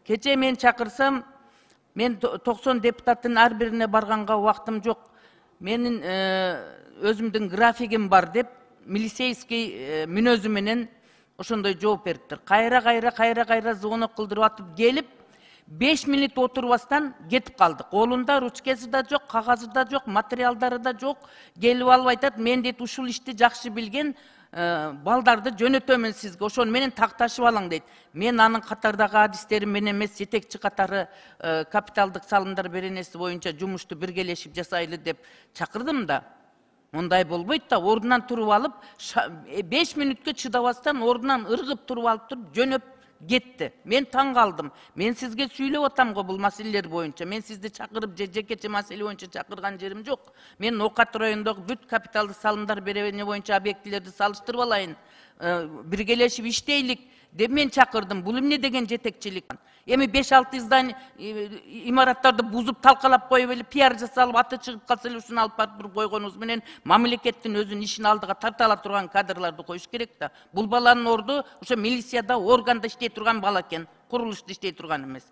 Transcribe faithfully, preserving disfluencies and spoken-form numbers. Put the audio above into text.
Кече мен чакырсам, мен токсон депутаттын ар бирине барганга убактым жок. Менин өзүмдүн графигим бар деп, милицейский мүнөзү менен ошондой жооп бериптир. Кайра кайра кайра кайра звонок кылдырып атып келип, беш минут отурбастан кетип калдык. Колунда ручкасы да жок, кагазы да жок, материалдары да жок. Келип алып айтат, мен дейт ушул ишти жакшы билген балдарды жөнөтөмүн сизге, ошону менен такташып алаң дейт. Мен анын катардагы адистерим менен эмес, жетекчи катары капиталдык салымдар беренеси боюнча жумушту биргелешип жасайлы деп чакырдым да. Ондай болбойт да, ордунан туруп алып, беш минутка чыдабастан ордунан ыргып туруп алып туруп жөнөп кетти. Мен таң калдым. Мен сизге сүйлөп атам го бул маселелер боюнча. Мен сизди чакырып же жекече маселе боюнча чакырган жерим жок. Мен Окат районундагы бүт капиталдык салымдар берене боюнча объектилерди салыштырып алайын, биргелешип иштейлик деп мен чакырдым. Бул эмне деген жетекчилик? Эми беш алты здание имараттарды бузуп талкалап коюп эле пиар жасалып аты чыгып калса эле ушуну алып барып койгонубуз менен мамлекеттин өзүнүн ишин алдыга тарта ала турган кадрларды коюш керек да. Бул баланын орду ошо милицияда, органда иштей турган бала экен, курулушта иштей турган эмес.